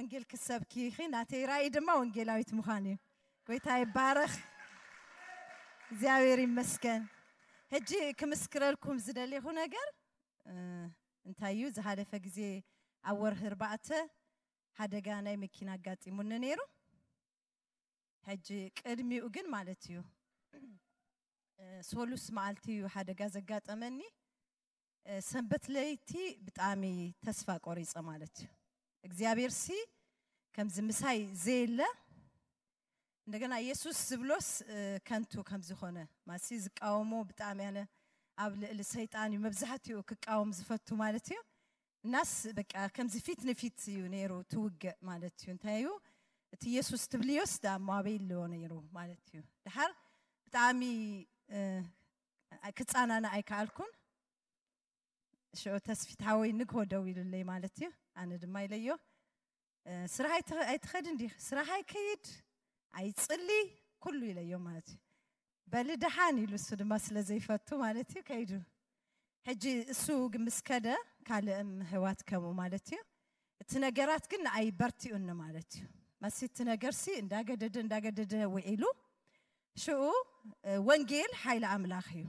ወንጌል ክትሰብኪ ኢኺ፣ ናተይ ራእይ ድማ ወንጌላዊት ምዃን እዩ። ጎይታ ይባረኽ። እግዚኣብሔር ይመስገን። ሕጂ ክምስክረልኩም ዝደሌኹ ነገር እ፣ እንታይ እዩ፣ ዝሓለፈ ግዜ ኣብ ወርሒ ኣርባዕተ ሓደጋ ናይ መኪና ኣጋጢሙኒ ነይሩ። ሕጂ ቅድሚኡ ግን ማለት እዩ፣ እ፣ ሶሉስ መዓልቲ እዩ ሓደጋ ዘጋጠመኒ። እ፣ ሰንበት ለይቲ ብጣዕሚ ተስፋ ቆሪጸ ማለት እዩ። እግዚኣብሔር ሲ ከምዚ ምሳይ ዘየለ፣ እንደገና ኢየሱስ ዝብሎስ እ፣ ከንቱ ከም ዝኾነ ማሲ ዝቃወሞ ብጣዕሚ ኣነ ኣብ ልዕሊ ሰይጣን እዩ መብዛሕትኡ ክቃወም ዝፈቱ ማለት እዩ። እናስ በቃ ከምዚ ፊት ንፊት እዩ ነይሩ ትውግእ ማለት እዩ። እንታይ እዩ እቲ ኢየሱስ ትብልዮስ ዳ ማበይ ኣለዎ ነይሩ ማለት እዩ። ድሓር ብጣዕሚ እ፣ ክጻናና ኣይከኣልኩን። ሽዑ ተስፊት ሓወይ ንግሆ ደው ኢሉለይ ማለት እዩ። ኣነ ድማ ኢለዮ እ፣ ስራሕ ኣይትኸ- ኣይትኸድ እንዲ ስራሕ ኣይከይድ ኣይጽሊ ኩሉ ኢለዮ ማለት እዩ። በሊ ደሓን ኢሉ እሱ ድማ ስለ ዘይፈቱ ማለት እዩ ከይዱ። ሕጂ እሱ ግን ምስ ከደ ካልእም ህዋት ከምኡ ማለት እዩ። እቲ ነገራት ግን ንኣይ በርቲኡኒ ማለት እዩ። መሲ እቲ ነገርሲ እንዳገደደ እንዳገደደ ውዒሉ ሽኡ እ፣ ወንጌል ሓይሊ ኣምላኽ እዩ።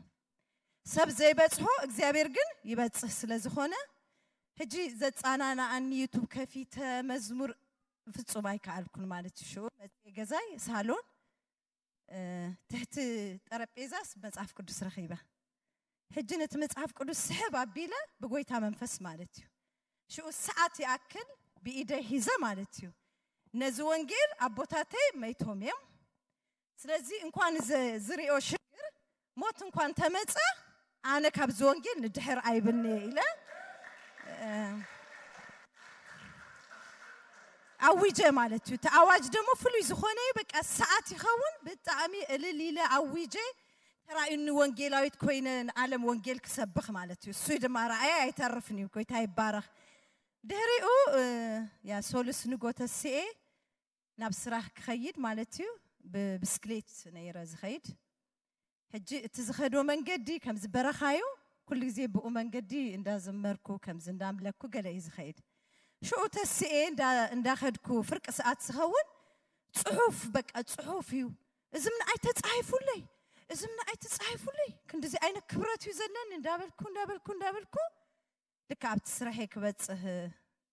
ሰብ ዘይበጽሖ እግዚኣብሔር ግን ይበጽህ ስለ ዝኾነ ሕጂ ዘጻናናኣኒ ዩቱብ ከፊተ መዝሙር ፍጹም ኣይከኣልኩን ማለት እዩ። ሽኡ መጽሔ ገዛይ ሳሎን እ፣ ትሕቲ ጠረጴዛስ መጽሓፍ ቅዱስ ረኺበ። ሕጂ ነቲ መጽሓፍ ቅዱስ ስሕብ ኣቢለ ብጎይታ መንፈስ ማለት እዩ። ሽኡ ሰዓት ይኣክል ብኢደ ሂዘ ማለት እዩ። ነዚ ወንጌል ኣቦታተይ መይቶም እዮም። ስለዚ እንኳን ዘ- ዝሪኦ ሽግር ሞት እንኳን ተመጸ ኣነ ካብዚ ወንጌል ንድሕር ኣይብልኒ ኢለ እ፣ ኣዊጀ ማለት እዩ። እቲ ኣዋጅ ደሞ ፍሉይ ዝኾነ እዩ። በቃ ሰዓት ይኸውን ብጣዕሚ እልል ኢለ ኣዊጀ ተራእዩኒ ወንጌላዊት ኮይነ ንዓለም ወንጌል ክሰብኽ ማለት እዩ። እሱ ድማ ረኣየ ኣይተርፍን እዩ። ጎይታ ይባረኽ። ድሕሪኡ እ፣ ያ ሶሉስ ንጎ ተስኤ ናብ ስራሕ ክኸይድ ማለት እዩ። ብብስክሌት ነይረ ዝኸይድ። ሕጂ እቲ ዝኸዶ መንገዲ ከምዚ በረኻ እዩ። ኩሉ ግዜ ብኡ መንገዲ እንዳዘመርኩ ከምዚ እንዳምለኩ ገለ እዩ ዝኸይድ። ሽኡ ተስኤ እንዳ- እንዳኸድኩ ፍርቂ ሰዓት ዝኸውን ጽሑፍ በቃ ጽሑፍ እዩ። እዝም ንኣይ ተጻሒፉለይ፣ እዝም ንኣይ ተጻሒፉለይ፣ ክንዲዚ ዓይነት ክብረት እዩ ዘለኒ እንዳበልኩ እንዳበልኩ እንዳበልኩ ልካ ኣብቲ ስራሐይ ክበጽህ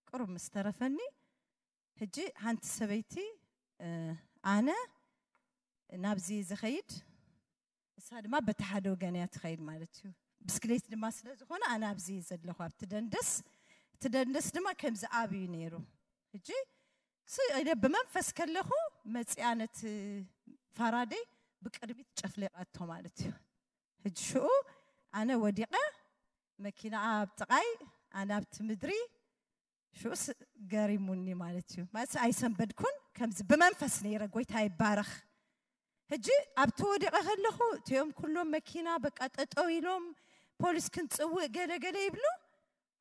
ቅሩብ ምስ ተረፈኒ ሕጂ ሓንቲ ሰበይቲ እ፣ ኣነ ናብዚ ዝኸይድ እሳ ድማ በቲ ሓደ ወገን እያ ትኸይድ ማለት እዩ። ብስክሌት ድማ ስለ ዝኾነ ኣነ ኣብዚ እየ ዘለኹ ኣብቲ ደንደስ። እቲ ደንደስ ድማ ከምዚ ኣብ እዩ ነይሩ። ሕጂ ስ- ኢለ ብመንፈስ ከለኹ መፂኣ ነቲ ፋራደይ ብቅድሚት ጨፍሊቓቶ ማለት እዩ። ሕጂ ሽኡ ኣነ ወዲቐ መኪና ኣብ ጥቓይ ኣነ ኣብቲ ምድሪ ሽኡስ ገሪሙኒ ማለት እዩ። ማለት ኣይሰንበድኩን ከምዚ ብመንፈስ ነይረ። ጎይታ ይባረኽ። ሕጂ ኣብቲ ወዲቐ ከለኹ እቲኦም ኩሎም መኪና በቃ ጠጠው ኢሎም ፖሊስ ክንፅውእ ገለ ገለ ይብሉ።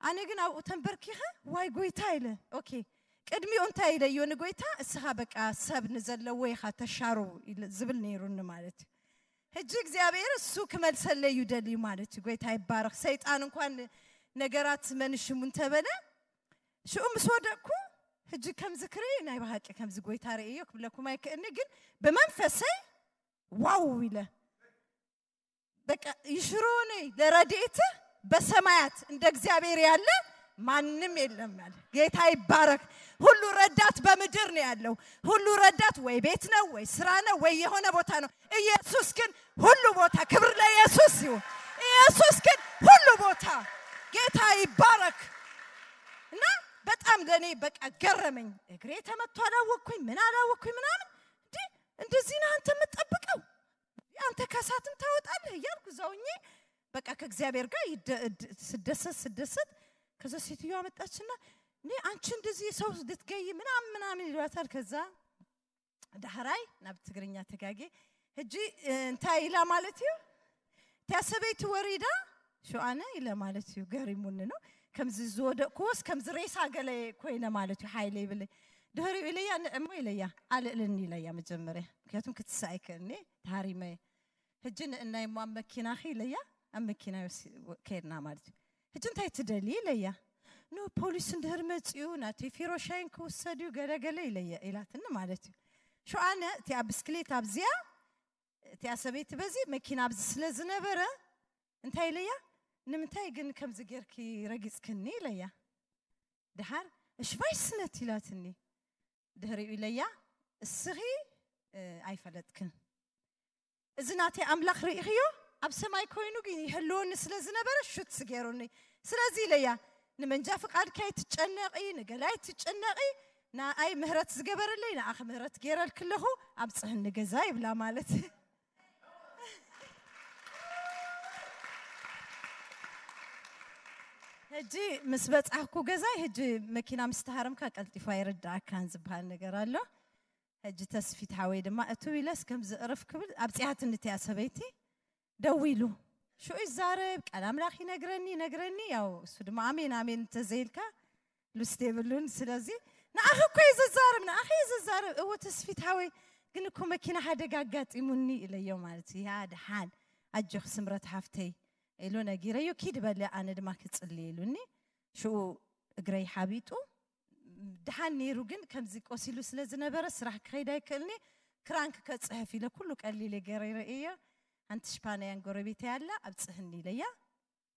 ኣነ ግን ኣብኡ ተንበርኪኸ ዋይ ጎይታ ኢለ። ኦኬ ቅድሚኡ እንታይ ኢለዮ ንጎይታ እስኻ በቃ ሰብ ንዘለዎ ኢኻ ተሻሩ ኢለ- ዝብል ነይሩኒ ማለት እዩ። ሕጂ እግዚኣብሔር እሱ ክመልሰለይ እዩ ደልዩ ማለት እዩ። ጎይታ ይባረኽ። ሰይጣን እንኳን ነገራት መንሽሙ እንተበለ ሽኡ ምስ ወደቅኩ ሕጂ ከምዚ ክርኢ ናይ ብሃቂ ከምዚ ጎይታ ርእዮ ክብለኩም ኣይክእልኒ ግን ብመንፈሰይ ዋው ኢለ በቃ ይሽሮኒ ለረድኤት በሰማያት እንደ እግዚአብሔር ያለ ማንም የለም አለ። ጌታ ይባረክ። ሁሉ ረዳት በምድር ነው ያለው። ሁሉ ረዳት ወይ ቤት ነው ወይ ስራ ነው ወይ የሆነ ቦታ ነው። ኢየሱስ ግን ሁሉ ቦታ ክብር ለኢየሱስ ይሁን። ኢየሱስ ግን ሁሉ ቦታ ጌታ ይባረክ። እና በጣም ለእኔ በቃ ገረመኝ። እግሬ ተመቶ አላወቅኩኝ ምን አላወቅኩኝ ምናምን እንዲ እንደዚህ ነህ አንተ የምትጠብቀው አንተ ከሳትም ታወጣለህ እያልኩ እዛውኜ በቃ ከእግዚአብሔር ጋር ይደ- እድ- ስደሰት ስደሰት ከዛ ሴትዮዋ መጣችና እኔ አንቺ እንደዚህ ሰው ልትገይ ምናምን ምናምን ይሏታል። ከዛ ዳሕራይ ናብ ትግርኛ ተጋጌ ሕጂ እንታይ ኢላ ማለት እዩ እቲያ ሰበይቲ ወሪዳ ሽኣነ ኢለ ማለት እዩ ገሪሙኒ ነው ከምዚ ዝወደቅኩዎስ ከምዚ ሬሳ ገለ ኮይነ ማለት እዩ ሓይለ ይብለይ ድህሪኡ ኢለያ ንዕሞ ኢለያ ኣልእልኒ ኢለያ መጀመርያ ምክንያቱም ክትስእ ኣይክእልኒ ተሃሪመ ሕጂ ንእናይ እሞ ኣብ መኪናኺ ኢለያ ኣብ መኪና ከድና ማለት እዩ ሕጂ እንታይ ትደሊ ኢለያ ኖ፣ ፖሊስ እንድህር መፅኡ ናተይ ፊሮ ሻይን ክውሰድ እዩ ገለገለ ኢለየ ኢላትኒ ማለት እዩ። ሽኡ ኣነ እቲኣ ብስክሌት ኣብዚኣ፣ እቲኣ ሰበይቲ በዚ መኪና ኣብዚ ስለ ዝነበረ እንታይ ኢለያ፣ ንምንታይ ግን ከምዚ ጌርኪ ረጊፅክኒ ኢለያ። ድሓር እሽባይ ስነት ኢላትኒ። ድሕሪኡ ኢለያ፣ እስኺ ኣይፈለጥክን፣ እዚ ናተይ ኣምላኽ ርኢኽዮ፣ ኣብ ሰማይ ኮይኑ ግን ይህልወኒ ስለ ዝነበረ ሹት ስገሩኒ። ስለዚ ኢለያ፣ ንመንጃ ፍቃድ ከይትጨነቂ፣ ንገላይ ትጨነቂ፣ ንኣይ ምህረት ዝገበረለይ ንኣኺ ምህረት ገይረልኪ ኣለኹ፣ ኣብፅሕኒ ገዛ ይብላ ማለት። ሕጂ ምስ በጻሕኩ ገዛይ፣ ሕጂ መኪና ምስ ተሃረምካ ቀልጢፉ ኣይርድኣካን ዝበሃል ነገር ኣሎ። ሕጂ ተስፊት ሓወይ ድማ እትው ኢለስ ከም ዝእርፍ ክብል ኣብጺኣትኒ እቲኣ ሰበይቲ። ደዊሉ ሽኡ ይዛረብ፣ ቃል ኣምላኽ ይነግረኒ ይነግረኒ። ያው እሱ ድማ ኣሜን ኣሜን እንተዘይልካ ሉስ የብሉን። ስለዚ ንኣኺ እኮ እዩ ዝዛረብ፣ ንኣኺ እዩ ዝዛረብ። እወ ተስፊት ሓወይ፣ ግን እኮ መኪና ሓደጋ ኣጋጢሙኒ ኢለዮ ማለት እዩ። ያ ደሓን ኣጆኺ ስምረት ሓፍተይ ኢሉ ነጊረዮ። ኪድ በለ ኣነ ድማ ክጽሊ ኢሉኒ። ሽኡ እግረይ ሓቢጡ። ደሓን ነይሩ፣ ግን ከምዚ ቆሲሉ ስለ ዝነበረ ስራሕ ክኸይድ ኣይክእልኒ። ክራንክ ከጽሕፍ ኢለ ኩሉ ቀሊለ ገይረ እየ። ሓንቲ ሽፓንያን ጎረቤተይ ኣላ፣ ኣብጽህኒ ኢለያ።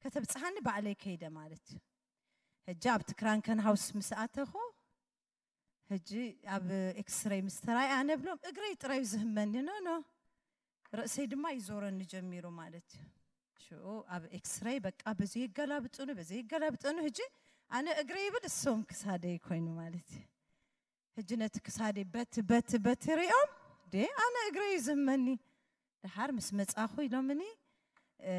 ከተብጽሓኒ ባዕለይ ከይደ ማለት እዩ። ሕጂ ኣብቲ ክራንከን ሃውስ ምስ ኣተኹ፣ ሕጂ ኣብ ኤክስሬይ ምስ ተራእየ፣ ኣነ ብሎም እግረይ ጥራዩ ዝህመኒ፣ ኖ፣ ኖ፣ ርእሰይ ድማ ይዞረኒ ጀሚሩ ማለት እዩ። ሽኡ ኣብ ኤክስሬይ በቃ በዚ ይገላብጡኒ፣ በዚ ይገላብጡኒ። ሕጂ ኣነ እግረይ ይብል፣ እሶም ክሳደይ ኮይኑ ማለት እዩ። ሕጂ ነቲ ክሳደይ በቲ፣ በቲ፣ በቲ ሪኦም፣ ዴ ኣነ እግረይ እዩ ዝህመኒ። ደሓር ምስ መጻኹ ኢሎምኒ፣ እ፣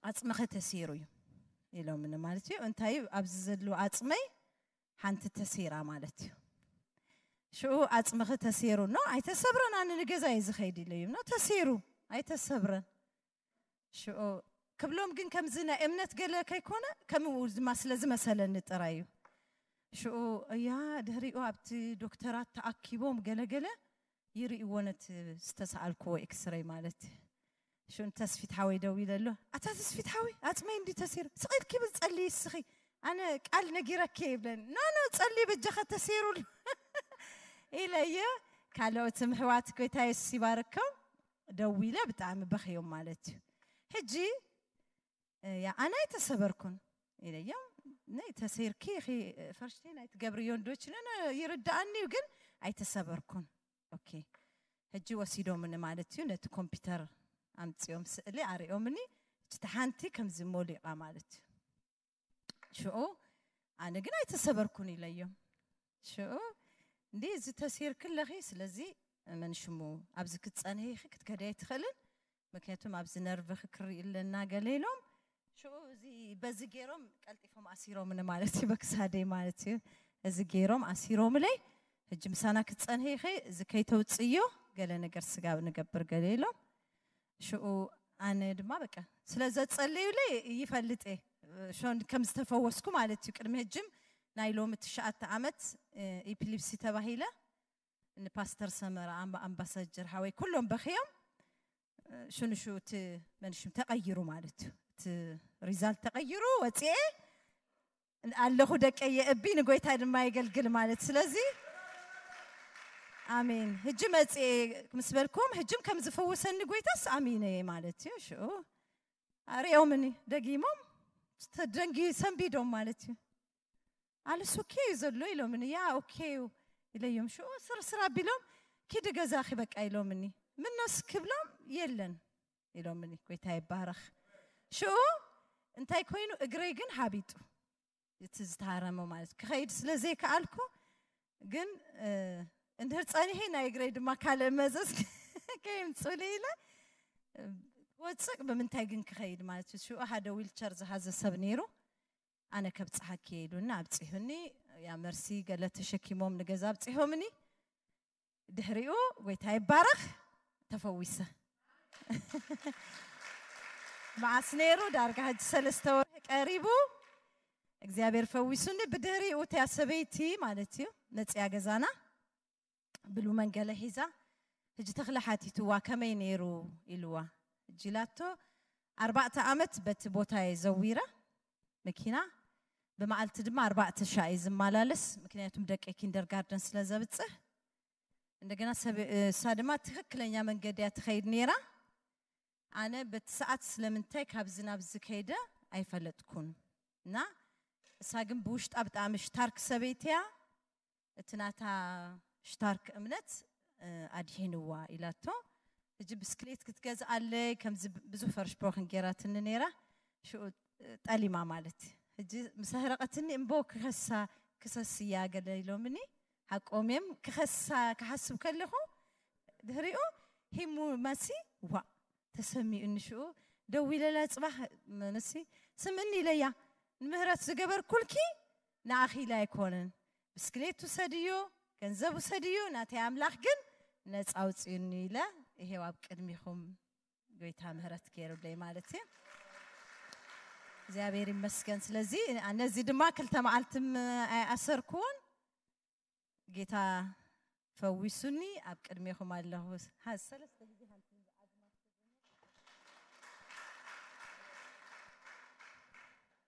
"ዓጽምኺ ተሲሩ እዩ" ኢሎምኒ ማለት እዩ። እንታይ እዩ ኣብዚ ዘሎ ዓጽመይ ሓንቲ ተሲራ ማለት እዩ። ሽኡ "ዓጽምኺ ተሲሩ" ኖ፣ "ኣይተሰብረን፣ ኣነ ንገዛ እየ ዝኸይድ" ኢለዮም። ኖ፣ "ተሲሩ፣ ኣይተሰብረን" ሽኡ ክብሎም ግን ከምዚ ናይ እምነት ገለ ከይኮነ ከምኡ ድማ ስለ ዝመሰለኒ ጥራይ እዩ። ሽኡ እያ ድሕሪኡ ኣብቲ ዶክተራት ተኣኪቦም ገለገለ ይርእይዎ ነቲ ዝተሰኣልክዎ ኤክስሬይ ማለት እዩ። ሽኡ ንተስፊት ሓወይ ደው ኢለ ኣሎ። "ኣታ ተስፊት ሓወይ፣ ኣጽመይ እንዲ ተሲሩ፣ ስቕ ኢልኪ ብል ጸልዪ እስኺ፣ ኣነ ቃል ነጊረኪ እየ" ይብለኒ። "ኖ፣ ኖ፣ ጸልዪ በጃኻ ተሲሩ ኣሎ" ኢለየ። ካልኦት ምሕዋት ጎይታ የሱስ ይባርኮም። ደው ኢለ ብጣዕሚ በኽዮም ማለት እዩ። ሕጂ፣ "ያ፣ ኣነ ኣይተሰበርኩን" ኢለዮም። "ነይ ተሰይርኪ ኢኺ፣ ፈርሽተይ ናይ ትገብርዮ እንዶች ነ-፣ ነ-፣ ይርድኣኒ እዩ፣ ግን ኣይተሰበርኩን።" ኦኬ። ሕጂ ወሲዶምኒ ማለት እዩ። ነቲ ኮምፒውተር ኣምጺኦም ስእሊ ኣርእዮምኒ። እቲ ሓንቲ ከምዚ ሞሊቓ ማለት እዩ። ሽኡ ኣነ ግን ኣይተሰበርኩን ኢለዮም። ሽኡ "እንዲ እዚ ተሲርኪ ኣለኺ፣ ስለዚ መን ሽሙ ኣብዚ ክትጸንሒ ኢኺ፣ ክትከዲ ኣይትኽእልን፣ ምክንያቱም ኣብዚ ነርቭኺ ክርኢ ኣለና" ገለ ኢሎም። ሽኡ እዚ በዚ ገይሮም ቀልጢፎም ኣሲሮምኒ ማለት እዩ፣ በክሳደይ ማለት እዩ። እዚ ገይሮም ኣሲሮምለይ። "ሕጂ ምሳና ክትጸንሒ ኢኺ፣ እዚ ከይተውጽእዮ ገለ ነገር ስጋብ ንገብር" ገለ ኢሎም። ሽኡ ኣነ ድማ በቃ ስለ ዘጸለዩለይ ይፈልጥ እየ፣ ሾን ከም ዝተፈወስኩ ማለት እዩ። ቅድሚ ሕጅም ናይ ሎሚ ትሽዓተ ዓመት፣ እ፣ ኢፒሊፕሲ ተባሂለ ንፓስተር ሰመረ ኣምባ-፣ ኣምባሳጀር ሓወይ ኩሎም በኽዮም። እ፣ ሽኑ ሽኡ እቲ መንሽም ተቐይሩ ማለት እዩ። እቲ ሪዛልት ተቐይሩ ወፂኤ ኣለኹ፣ ደቀየ እቢ ንጎይታ ድማ የገልግል ማለት። ስለዚ ኣሜን። ሕጂ መፅኤ ምስ በልኩም፣ ሕጅም ከም ዝፈወሰኒ ጎይታስ ኣሚነ እየ ማለት እዩ። ሽኡ ኣርእዮምኒ፣ ደጊሞም ተደንጊ ሰንቢዶም ማለት እዩ። "ኣልስ ኦኬ እዩ ዘሎ" ኢሎምኒ። "ያ፣ ኦኬ እዩ" ኢለዮም። ሽኡ ስርስር ኣቢሎም፣ "ኪዲ ገዛኺ በቃ" ኢሎምኒ። "ምኖስ?" ክብሎም፣ "የለን" ኢሎምኒ። ጎይታ ይባረኽ። ሽኡ እንታይ ኮይኑ፣ እግረይ ግን ሃቢጡ፣ እቲ ዝተሃረመ ማለት፣ ክኸይድ ስለ ዘይከኣልኩ፣ ግን፣ እ፣ እንድሕር ጸኒሐ ናይ እግረይ ድማ ካልእ መዘዝ ከየምጽኡለይ ኢለ፣ እ፣ ክወጽእ ብምንታይ ግን ክኸይድ ማለት እዩ። ሽኡ ሓደ ዊልቸር ዝሃዘ ሰብ ነይሩ፣ ኣነ ከብጽሓኪ እየ ኢሉኒ፣ ኣብጺሑኒ። ያ መርሲ ገለ ተሸኪሞም ንገዛ ኣብጺሖምኒ። ድሕሪኡ ጎይታ ይባረኽ፣ ተፈዊሰ። መዓስ ነይሩ? ዳርጋ ሕጂ ሰለስተ ወርሒ ቀሪቡ። እግዚኣብሔር ፈዊሱኒ። ብድሕሪኡ እቲያ ሰበይቲ ማለት እዩ መፅያ ገዛና ብሉ መንገለ ሒዛ፣ ሕጂ ተኽለ ሓቲትዋ ከመይ ነይሩ ኢልዋ። ሕጂ ኢላቶ፣ ኣርባዕተ ዓመት በቲ ቦታ እየ ዘዊረ መኪና፣ ብመዓልቲ ድማ ኣርባዕተ ሻዕ እዩ ዝመላለስ፣ ምክንያቱም ደቂ ኪንደርጋርደን ስለ ዘብጽሕ። እንደገና ሰብ እሳ ድማ ትኽክለኛ መንገዲ እያ ትኸይድ ነይራ። ኣነ በቲ ሰዓት ስለምንታይ ካብዚ ናብዚ ከይደ ኣይፈለጥኩን። እና እሳ ግን ብውሽጣ ብጣዕሚ ሽታርክ ሰበይቲ እያ። እቲ ናታ ሽታርክ እምነት ኣድሒንዋ ኢላቶ። ሕጂ ብስክሌት ክትገዝኣለይ ከምዚ ብዙሕ ፈርሽፖክን ገይራትኒ ነይራ። ሽኡ ጠሊማ ማለት እዩ። ሕጂ ምስ ኣህረቐትኒ እምቦ ክኸሳ ክሰስያ ገለ ኢሎምኒ። ሓቆም እዮም። ክኸሳ ክሓስብ ከለኹ ድሕሪኡ ሂሙ መሲ ዋ ተሰሚኡ ንሽኡ ደው ኢለላ ጽባሕ መሲ ስምኒ ኢለያ ንምህረት ዝገበርኩልኪ ንኣኺ ኢለ ኣይኮነን። ብስክሌት ውሰድዮ፣ ገንዘብ ውሰድዮ፣ ናተይ ኣምላኽ ግን ነጻ ኣውጽዩኒ ኢለ ይሄው ኣብ ቅድሚኹም ጎይታ ምህረት ገይሩለይ ማለት እዩ። እግዚኣብሔር ይመስገን። ስለዚ ነዚ ድማ ክልተ መዓልትም ኣይኣሰርኩዎን። ጌታ ፈዊሱኒ ኣብ ቅድሜኹም ኣለኹ። ሰለስተ ግዜ